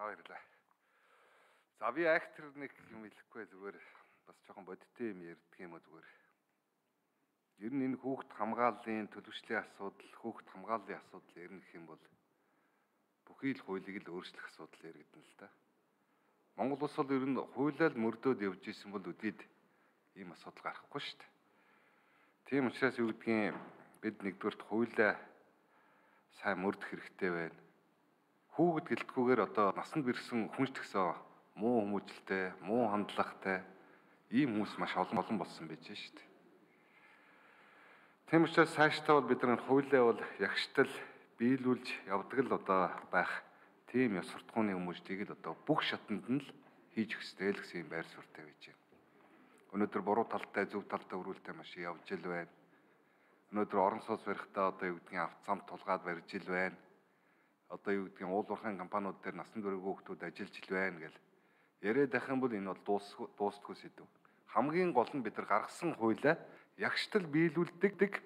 баярлалаа. За би актер нэг юм хэлэхгүй зүгээр бас жоохон бодиттой юм ярьдаг юм уу зүгээр. Ер нь энэ хүүхд хамгааллын төлөвшлийн асуудал, хүүхд хамгааллын асуудал ярих гэх юм бол бүхий л хуулийг л өөрчлөх асуудал яригдана л да. Монгол улс бол ер нь хуулиар мөрдөөд явж исэн бол үдээд ийм асуудал гарахгүй шүү дээ. Тийм учраас юу гэдгийг бид нэгдүгээрт хуулиа сайн мөрдөх хэрэгтэй байна. Хүүхэд гэлтгүүгээр одоо насанд бэрсэн хүнш тгсэн муу хүмүүжлтэй, муу хандлагатай ийм хүмүүс маш олон болсон байж шүү дээ. Тийм учраас цаашдаа бол бид нар хуулиа бол ягштал биелүүлж явдаг л одоо байх тийм ёс суртахууны хүмүүжлийг л одоо бүх шатанд нь л хийж өгсдэй л гэсэн юм байр суурьтай байж байна. Өнөөдөр буруу талтай, зөв талтай өрүүлтэй маш явж ил байна. Өнөөдөр орон сууц барихтаа одоо юу гэдгийг авт цамт тулгаад барьж ил байна. Одоо юу гэдгийг уул уурхайн компаниуд дээр насан туршийн хүүхдүүд ажиллаж ил байна гэл яриад байх юм бол энэ бол дуустгүй сэдв. Хамгийн гол нь бид нар гаргасан хуулиа ягштал биелүүлдэг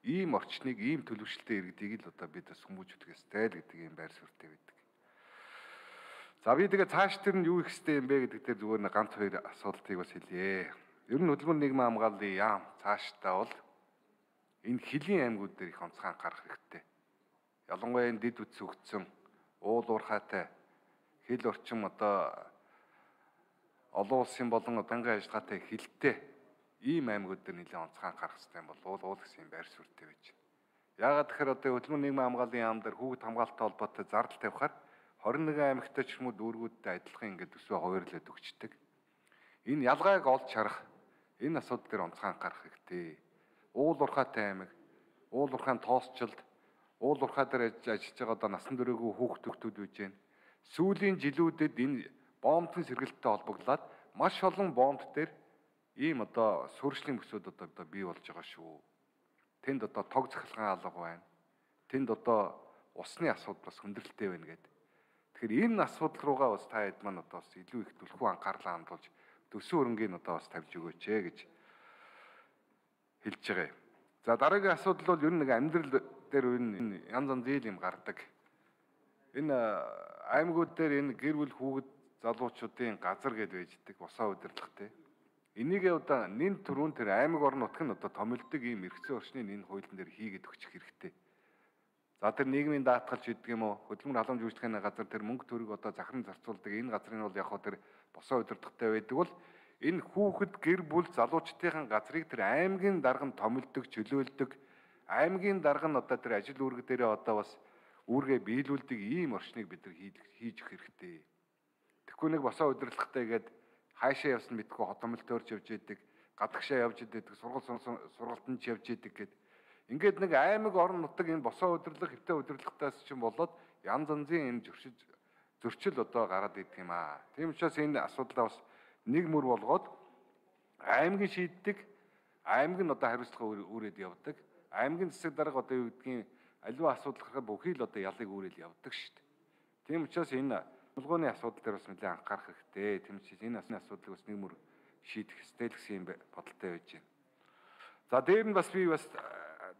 ийм орчныг, ийм төлөвшөлтөй иргэдийг л одоо бид бас хүмүүжүүлэх ёстой л гэдэг юм байр суурьтай байдаг. За би тэгээ цааш тэр нь юу их хэвтэй юм бэ гэдэг дээр зүгээр нэг ганц хоёр асуултыг бас хэлье. Ер нь хөдөлмөр нийгмийн хамгааллын яам цаашдаа бол энэ хөлийн аймагуд дээр их онцгой анхаарах хэрэгтэй. Ялангуяа энэ дэд үтс өгцөн, уул уурхайтай, хил орчим одоо олон улсын болон дангийн ажиллагаатай хилтэй ийм аймагуд дээр нэлээд онцгой анхаарах хэрэгтэй юм бол уул гэсэн юм байр суурьтай байж байна. Яагаад тэгэхээр одоо хөдөлмөр нийгмийн хамгааллын яам дээр хүүхэд хамгаалалттай холбоотой зардал тавихаар 21 аймагтай ч юм уу дүүргүүдтэй адилхан ингээд төсвөө хуваарлаад өгчдөг. Энэ ялгааг олж харах, энэ асуудал дээр онцгой анхаарах хэрэгтэй. Уул уурхайтай аймаг, уул уурхайн тоосчлд, уул уурхай дээр ажиллаж байгаа одоо насан туршаагүй хүүхдүүд байж байна. Сүүлийн жилүүдэд энэ боомтын сэргэлттэй холбогдлоод маш олон боомт дээр ийм одоо суурьшлийн бүсүүд одоо бий болж байгаа шүү. Тэнд одоо тог захилгаан алга байна. Тэнд одоо усны асуудал бас хүндрэлтэй байна гэдэг. Тэгэхээр энэ асуудал руугаа бас та хэд маань одоо бас илүү их түлхүү анхаарлаа хандуулж төсөө хөрөнгийг одоо бас тавьж өгөөч гэж хэлж байгаа юм. За дараагийн асуудал бол ер нь нэг амьдрал дээр энэ янз янзын юм гардаг. Энэ аймагуд дээр энэ гэр бүл хүүхэд залуучуудын газар гэдээ байждаг босоо удирдлагатай. Энийгээ одоо нэн төрүүн тэр аймаг орон нутг нь одоо томилдог ийм эрхцээ орчныг энэ хуулийн дээр хийгээд өгчих хэрэгтэй. За тэр нийгмийн даатгалч гэдэг юм уу, хөдөлмөр халамж үйлчлэхний газар тэр мөнгө төгрөг одоо захиран зарцуулдаг энэ газрын бол яг хөө тэр босоо удирдлагатай байдаг бол энэ хүүхэд гэр бүл залуучдын газрыг тэр аймгийн дарга нь томилдог, чөлөөлдөг, аймгийн дарга нь одоо тэр ажил үүрэг дээрээ одоо бас үүргээ биелүүлдэг ийм орчныг бид нар хийж өгөх хэрэгтэй. Тэгэхгүй нэг босоо удирдлагатай гээд хаашаа явсан мэдгүй хотомлт өрж явж идэг, гадагшаа явж идэг, сургалтанд явж идэг гэд. Ингээд нэг аймаг орон нутаг энэ босоо удирдлага, хэвтэ удирдлагатаас ч юм болоод янз янзын энэ зөрчил одоо гараад идэх юм аа. Тийм учраас энэ асуудлаа бас нэг мөр болгоод аймгийн шийддэг, аймаг нь одоо хариуцлага үүрээд явдаг. Аймгийн засаг дарга одоо юу гэдгийг аливаа асуудал гарахад бүхий л одоо ялыг үүрэл явдаг шүү дээ. Тийм учраас энэ тулгууны асуудал дээр бас нэлээд анхаарах хэрэгтэй. Тийм учраас энэ асуудлыг бас нэг мөр шийдэх ёстой гэсэн юм бодолтой байж байна. За дээр нь бас би бас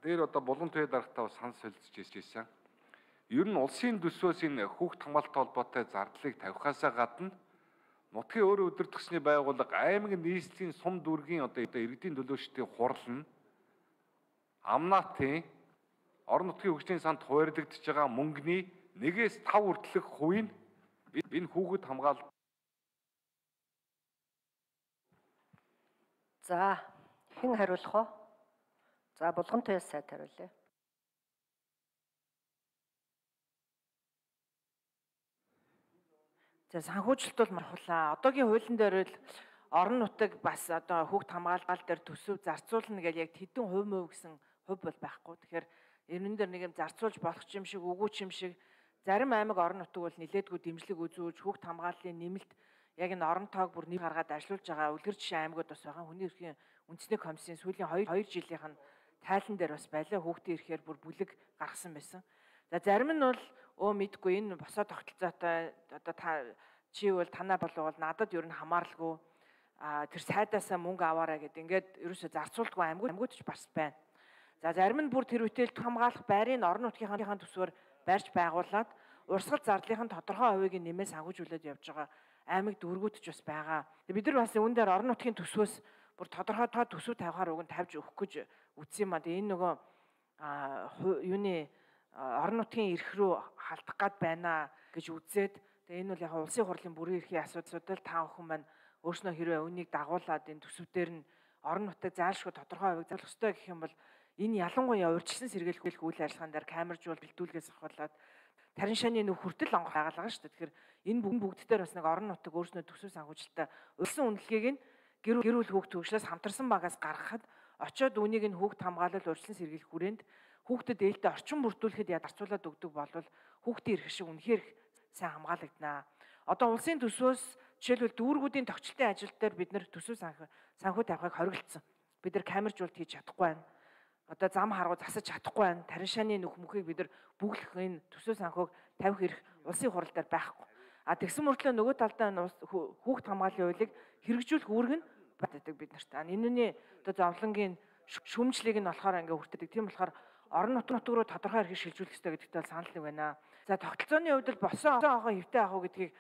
дээр одоо булан туяа дарагтаа бас санал солилцож ирсэн. Ер нь улсын төсвөөс энэ хүүхд хамгаалалттай холбоотой зардлыг тавихаасаа гадна нутгийн өөрөө удирдахсны байгууллага аймаг нийслэлийн сум дүүргийн одоо иргэдийн төлөөчдийн хурал нь амнаатын орон нутгийн хөгжлийн санд хуваарлагдж байгаа мөнгөний 1-5 хүртэлх хувийг энэ хүүхэд хамгаалалт. За хэн хариулах вэ? За булган туяас сайд хариулъя. За санхүүжилт бол мархуулаа. Одоогийн хуулийн дээр л орон нутаг бас одоо хүүхд хамгаалал дээр төсөв зарцуулна гэж яг хэдэн хувь гэсэн хувь бол байхгүй. Тэгэхээр энэ дээр нэг юм зарцуулж болох юм шиг, үгүй юм шиг зарим аймаг орон нутаг бол нилээдгүй дэмжлэг үзүүлж хүүхд хамгааллын нэмэлт яг энэ орон тоог бүр нэг гаргаад ажиллуулж байгаа үлгэр жишээ аймагуд бас байгаа. Хүний эрхийн үндэсний комиссийн сүүлийн 2 жилийнх нь тайлан дээр бас байлаа хүүхдийн эрхээр бүр бүлэг гаргасан байсан. За зарим нь бол мэдгүй энэ босоо тогтолцоотой одоо чи бол танаа болов бол надад ер нь хамааралгүй тэр сайдаасаа мөнгө аваарай гэд ингээд ерөөсө зарцуулдаггүй аймагуд ч бас байна. За зарим нь бүр тэр үтэл хамгаалах байрыг орон нутгийнхаа төсвөр барьж байгуулад урсгал зардлын тодорхой хувийг нэмээс агуулжуулаад явж байгаа аймаг дүүргүүд ч бас байгаа. Бид нар бас үүн дээр орон нутгийн төсвөөс бүр тодорхой төсөв тавихаар уг нь тавьж өгөх гэж үзсэн юм аа. Энэ нөгөө юуны орон нутгийн эрх рүү халдах гад байна гэж үзээд тэгээ энэ бол яг улсын хурлын бүрэн эрхийн асуудал та бүхэн маань өөрснөө хэрвээ үнийг дагуулад энэ төсөвдөр нь орон нутаг заалшгүй тодорхой хувийг зарлах ёстой гэх юм бол энэ ялангуяа урьдчилан сэргийлэх үйл ажиллагаан дээр камержуул бэлдүүлгээс ахуулаад тарин шааны нүх хүртэл онгох хагалгаа шүү дээ. Тэгэхээр энэ бүгд дээр бас нэг орон нутаг өөрснөө төсөв санхүүжилттэй улсын үнэлгээг нь гэрүүл хүүхд төвшлээс хамтарсан багаас гаргахад очоод үнийг нь хүүхд хамгаалал урьдчилан сэргийлэх хүрээнд хүүхдэд ээлтэй орчин бүрдүүлэхэд ядарчуулаад өгдөг болвол хүүхдийн эрх шиг үнэхээр сайн хамгаалагдана. Одоо улсын төсвөөс жишээлбэл дүүргүүдийн тогтчлтын ажил дээр бид нэр төсөв санхүү тавихыг хориглосон. Бид нар камержуулт хийж чадахгүй байна. Одоо зам харгуу засаж чадахгүй байна. Тарин шааны нүх мөхийг бид нар бүглэх энэ төсөв санхүүг тавих эрх улсын хурал дээр байхгүй. А тэгсэн мөртлөө нөгөө талдаа хүүхд хамгааллын хуулийг хэрэгжүүлэх үүрэг нь байдаг бид нарт. Энэний одоо зовлонгийн шүмжлийг нь болохоор ингээ хүртдэг. Тийм болохоор орон нутг руу тодорхой эрхийг шилжүүлэх хэрэгтэй гэдэгт бол санал нэг байна. За тогтолцооны хувьд бол босон ахаа хэвтэй ахаа гэдгийг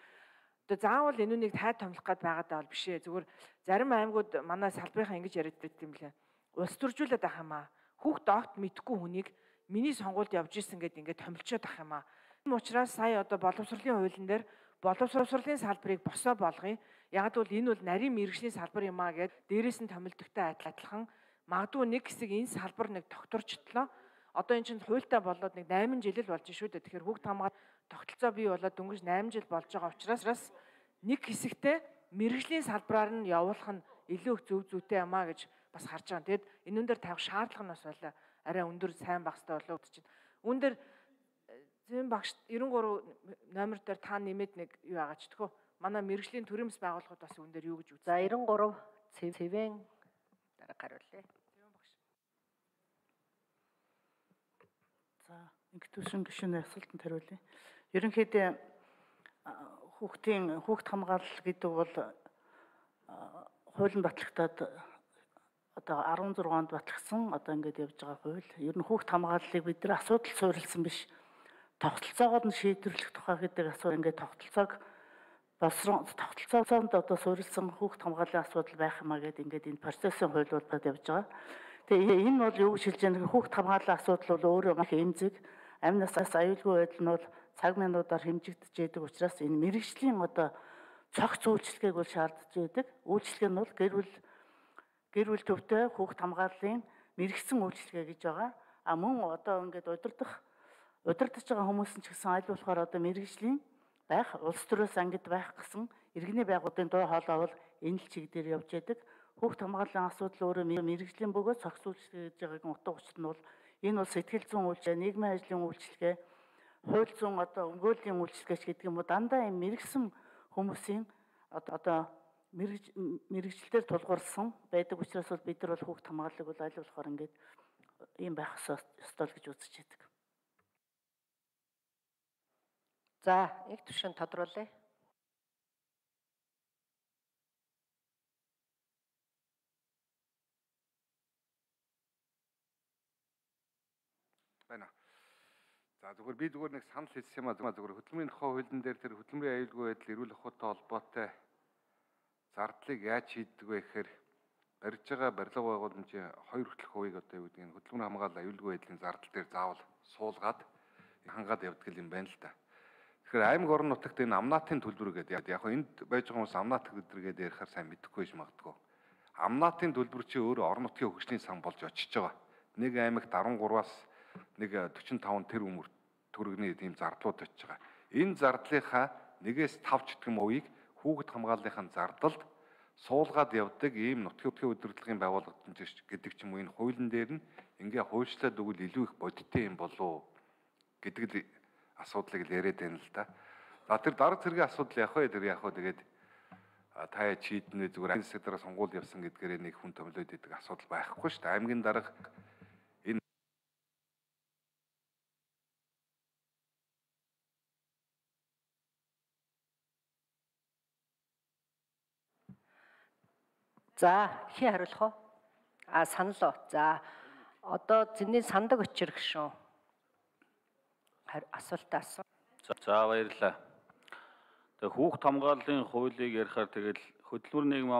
одоо заавал энүүнийг тайд томлох гээд байгаадаа бол биш ээ. Зүгээр зарим аймагуд манай салбарынхаа ингэж яриад байт юм лээ. Улс төржүүлээд ах юм аа. Хүүхд огт мэдгүй хүнийг миний сонгуульд явж исэн гэдээ ингээд томилчоод ах юм аа. Тийм учраас сая одоо боловсролын хуулийн дээр боловсролын салбарыг босоо болгоё. Яг л энэ бол нарийн мэргэжлийн салбар юм аа гэд дээрээс нь томилдогтой адилхан магадгүй нэг хэсэг энэ салбар нэг тогтворчлоо. Одоо эн чинь хуультай болоод нэг 8 жил л болж шүү дээ. Тэгэхээр хүүхд хамгаалалт тогтолцоо бий болоод дөнгөж 8 жил болж байгаа учраас нэг хэсэгтээ мэргэжлийн салбараар нь явуулах нь илүү их зөв зүйтэй юм аа гэж бас харж байгаа. Тэгэд энүүн дээр тавих шаардлага нь бас байлаа. Арай өндөр сайн багстай болоо гэж чинь. Үүн дээр зэвэн багш 93 номер дээр та нэмээд нэг юу байгаа ч тэхөө. Манай мэргэжлийн төрөмс байгууллагууд бас үүн дээр юу гэж үз. За 93 цэвэн дараа хариулъя. За ингээд төшин гишүүний асуултанд хариулъя. Ерөнхийдөө хүүхд хамгаалал гэдэг бол хуулийн батлагтаад одоо 16 онд батлагдсан одоо ингээд явж байгаа хууль. Ер нь хүүхд хамгааллыг бид нар асуудал суурилсан биш. Тогтолцоогоор нь шийдвэрлэх тухай гэдэг асуудал ингээд тогтолцоонд одоо суурилсан хүүхд хамгааллын асуудал байх юмаа гэдэг ингээд энэ процессын хууль болоод явж байгаа. Тэгээ энэ бол юу гэж хэлж байгаа нөхөр хүүхд хамгааллын асуудал бол өөрөө маш эмзэг, амнаас аюулгүй байдал нь бол цаг минутаар хэмжигдэж байдаг учраас энэ мэргэжлийн одоо цогц үйлчлэгийг бол шаардж байдаг. Үйлчлэг нь бол гэр бүл төвтэй хүүхд хамгааллын мэрэгсэн үйлчлэгээ гэж байгаа. А мөн одоо ингээд удирдах байгаа хүмүүс нь ч гэсэн аль болохоор одоо мэргэжлийн байх, улс төрөөс ангид байх гэсэн иргэний байгууллагын дуу хоолой бол энэ л чиг дээр явж байдаг. Хүүхд хамгааллын асуудал өөрөө мэргэжлийн бөгөөд цогц үйлчлэг гэж байгаагийн утга учир нь бол энэ бол сэтгэл зүйн үйлчлэг, нийгмийн ажлын үйлчлэгээ, хууль зүйн одоо өмгөөлийн үйлчлэгч гэдэг юм уу дандаа юм мэргэсэн хүмүүсийн одоо мэргэжилтээр тулгуурласан байдаг учраас бол бид нар бол хүүхд хамгааллыг бол аль болохоор ингээд ийм байх ёстой гэж үзэж байдаг. За их түвшин тодруулъя. Байна. За зүгээр би нэг санал хэлсэн юм а зүгээр хөдөлмөрийн тухай хуулийн дээр тэр хөдөлмөрийн аюулгүй байдал эрүүл ухаантай холбоотой зардлыг яаж шийддэг вэ гэхээр барьж байгаа барилга байгууламжийн 2 хүртэлх хувийг одоо юу гэдэг нь хөдөлмөрийн хамгаалал аюулгүй байдлын зардал дээр заавал суулгаад хангаад явдаг юм байна л да. Тэгэхээр аймаг орон нутагт энэ амнаатын төлбөр гэдэг яг энд байж байгаа хүмүүс амнаат төлбөр гэдэг ярихаар сайн мэдэхгүй байж магадгүй. Амнаатын төлбөр чи өөрөө орон нутгийн хөгжлийн сан болж очиж байгаа. Нэг аймагт 13-аас нэг 45 тэрбум төгрөгийн ийм зардлууд очиж байгаа. Энэ зардлынхаа 1-ээс 5 ч гэх юм уийг хүүхд хамгааллынхаа зардалд суулгаад явдаг ийм нутгийн удирдлагын байгууллагууд гэдэг ч юм уу энэ хуулийн дээр нь ингээ хуульчлаад өгвөл илүү их бодиттой юм болов гэдэг асуудлыг л яриад байна л да. За тэр дарга зэргийн асуудал яг вэ тэгээд та яа чийднэ зүгээр аймаг засаг дараа сонгуул явсан гэдгээр нэг хүн томилоод идэг асуудал байхгүй шүү дээ. Аймгийн дарга энэ За хий хариулах уу? Санал уу. За одоо зэний сандаг очир гişүн. Асуултаа асуу. За баярлалаа. Тэгээ хүүхд хамгааллын хуулийг ярихаар тэгэл хөдөлмөр нийгмийн